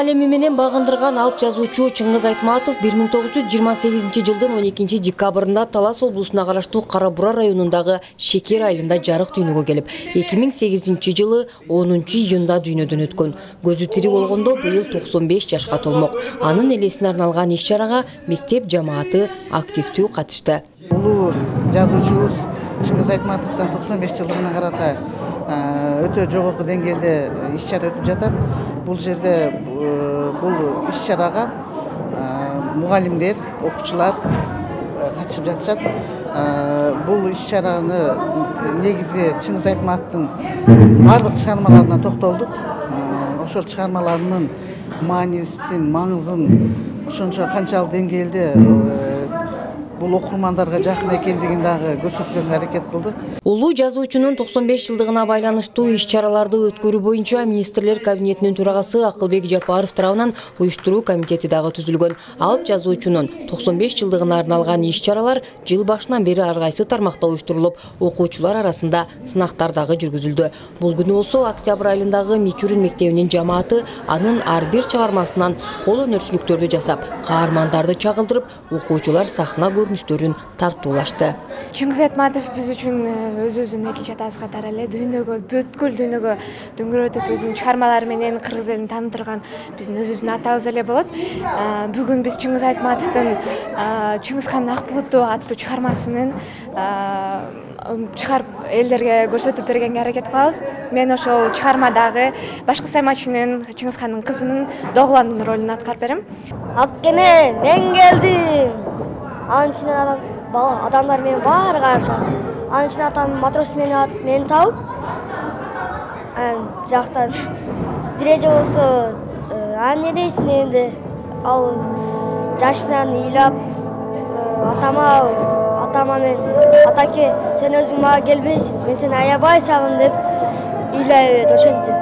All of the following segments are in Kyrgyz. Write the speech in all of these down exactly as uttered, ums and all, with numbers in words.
алеми менен багындырган алып жазуучу Чыңгыз Айтматов бир миң тогуз жүз жыйырма сегизинчи жылдын он экинчи декабрында Талас облусуна караштуу Кара Бура районундагы Шекер айылында жарык дүйнөгө келип, эки миң сегизинчи жылы онунчу июнда дүйнөдөн өткөн. Көзү тири болгондо быйыл токсон беш жашка толмок. Анын элесине арналган иш-чарага мектеп жамааты активдүү катышты. Улуу жазуучубуз Чыңгыз Айтматовдун токсон беш жылдыгына карата өтө жогорку деңгээлде иш-чара өтүп жатат. Бул жерде бул иш-чарага мугалимдер, окуучулар катышып жатышат. Бул иш-чараны негизи Чыңгыз Айтматовдун бардык чыгармаларына токтолдук. Ошол чыгармаларынын маанисин, маңызын ошончо канчалык деңгээлде бул окурмандарга жакын экендигин дагы көрсөткөнгө аракет кылдык. Улуу жазуучунун токсон беш жылдыгына байланыштуу иш-чараларды өткөрүү боюнча министрлер кабинетинин төрагасы Акылбек Жапаров тарабынан уюштуруу комитети дагы түзүлгөн. Алып жазуучунун токсон беш жылдыгына арналган иш-чаралар жыл башынан бери ар кайсы тармакта уюштурулуп, окуучулар арасында сынактар дагы жүргүзүлдү. Бул күнү болсо октябрь айылындагы Мичурин мектебинин жамааты анын ар бир чыгармасынан кол өнөрчүлүктөрдү жасап, каармандарды чагылдырып, окуучулар сахна көрүнүштөрүн тартуулашты. Чыңгыз Айтматов биз үчүн өз-өзүн экинчи атабыз катары эле дүйнөгө, бүткүл дүйнөгө дөңгөрөтүп өзүнүн чыгармалары менен кыргыз элин таанытырган биздин өз-өзүн атабыз эле болот. Бүгүн биз Чыңгыз Айтматовдун Чыңгыз хандын ак булуту аттуу чыгармасынын чыгарып элдерге көрсөтүп бергенге аракет кылабыз. Мен ошол чыгармадагы башкы саймачынын, Чыңгыз хандын кызынын Догландын ролун аткарып берем. Ак кеме мен келдим. Анын ичинен адамдар менен баары карашат. Анын ичинен атам матрос менен мени табып, жактан бир эже болсо, а эмне дейсиң дегенде, ал жашынан ыйлап, атама, атама мен, атаке, сен өзүң мага келбейсиң, мен сени аябай сагындым деп ыйлай берет ошентип.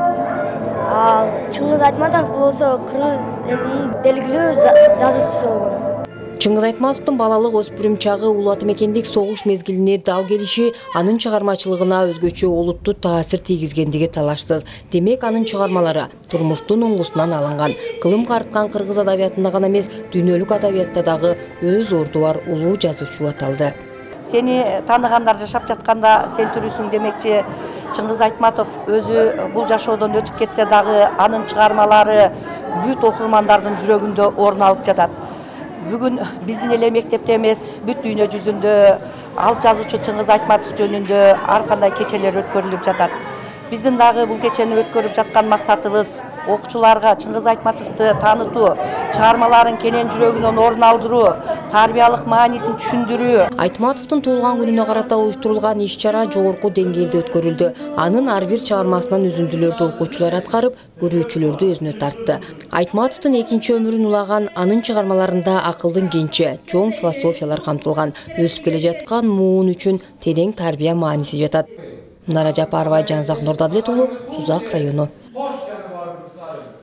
Ал Чыңгыз Айтматов болсо кыргыз элинин белгилүү жазуучусу болгон. Чыңгыз Айтматовдун балалык өспүрүм чагы улуу ата мекендик согуш мезгилине дал келиши анын чыгармачылыгына өзгөчө олуттуу таасир тийгизгендиги талашсыз. Демек, анын чыгармалары турмуштун уңгусунан алынган. Кылым карыткан кыргыз адабиятында гана эмес, дүйнөлүк адабиятта дагы өз орду бар улуу жазуучу аталды. Сени тааныгандар жашап жатканда сен тирүүсүң демекчи, Чыңгыз Айтматов өзү бул жашоодон өтүп кетсе дагы анын чыгармалары бүт окурмандардын жүрөгүндө орун алып жатат. Бүгүн биздин эле мектепте эмес, бүт дүйнө жүзүндө алып жазуучу Чыңгыз Айтматов жөнүндө ар кандай кечелер өткөрүлүп жатат. Биздин дагы бул кечени өткөрүп жаткан максатыбыз окуучуларга Чыңгыз Айтматовду таанытуу, чыгармаларын кенен жүрөгүнөн орун алдыруу, тарбиялык маанисин түшүндүрүү. Айтматовдун туулган күнүнө карата уюштурулган иш-чара жогорку деңгээлде өткөрүлдү. Анын ар бир чыгармасынан үзүндүлөрдү окуучулар аткарып, көрүүчүлөрдү өзүнө тартты. Айтматовдун экинчи өмүрүн улаган анын чыгармаларында акылдын кенче, чоң философиялар камтылган. Өсүп келе жаткан муун үчүн терең тарбия мааниси жатат. Нара Жапарова, Жанзак Нурдавлет уулу, Сузак району.